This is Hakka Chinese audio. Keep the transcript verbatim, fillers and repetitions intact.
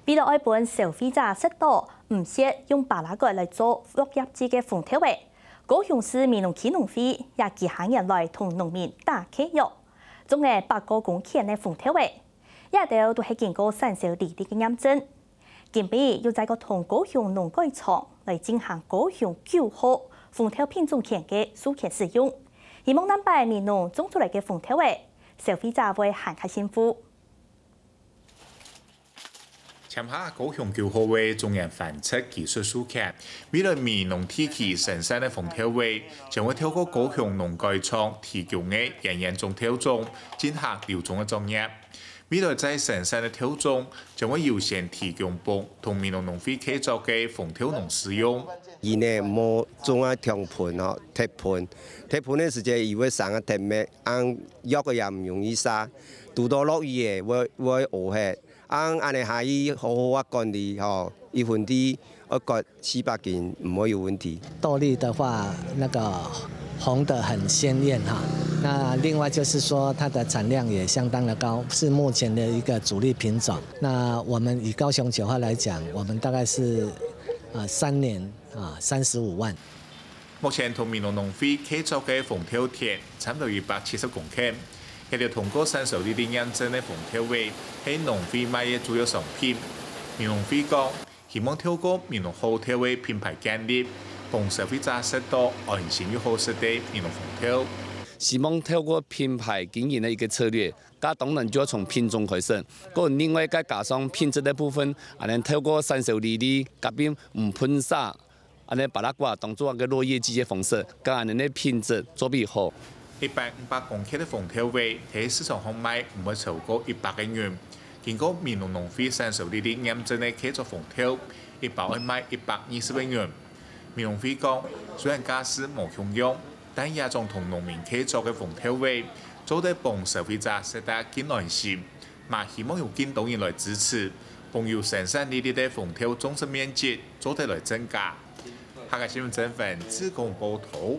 為了愛分消費者食到毋蝕用巴拉罐來做落葉劑个紅豆仔，高雄市美濃區農會也幾下年來同農民打契約，種了百過公頃个紅豆仔，這兜都係經過產銷履歷个驗證。今晡日又再過同高雄農改場來進行高雄九號紅豆品種權个授權使用，希望南擺美濃種出來个紅豆仔，消費者會還較幸福。 簽下高雄九號个種源繁殖技術授權，未來美濃地區生產个紅豆仔，將會透過高雄農改場提供个園園種豆種，進行留種个作業。未來再生產个豆種，將會優先提供分同美濃農會契作个紅豆農使用。佢呢無種啊，暢盆吼，忒盆，忒盆个時節，佢會生啊忒咩，恁藥个也毋容易殺，堵到落雨个，會會屙忒。 恁恁呢下去好好啊管理吼，一分地愛割四百斤，毋會有問題。豆粒的話，那個紅的很鮮豔哈。那另外就是說，它的產量也相當的高，是目前的一個主力品種。那我們以高雄九號來講，我們大概是，呃，三年，啊，三十五萬。 目前同美濃農會契作个紅豆田差毋多一百七十公頃，這兜通過產銷履歷驗證个紅豆仔，係農會賣个主要商品。美濃會講，希望透過美濃好豆个品牌建立，分消費者食到安心又好食个美濃紅豆。希望透過品牌經營个一個策略，該當然就愛從品種開始，過另外再加上品質个部分，恁呢透過產銷履歷，甲並毋噴灑， 恁呢巴拉罐當做一個落葉劑个方式，將恁呢个品質做比好。一般五百公克个紅豆仔，在市場項賣毋會超過一百個銀。經過美濃農會產銷履歷驗證个契作紅豆，一包愛賣一百二十個銀。美農會講，雖然價數無共樣，但這種同農民契作个紅豆仔，做得分消費者食得更安心。 嘛希望有更多人來支持，分有生產履歷个紅豆種植面積做得來增加。客家新聞曾文志工報導。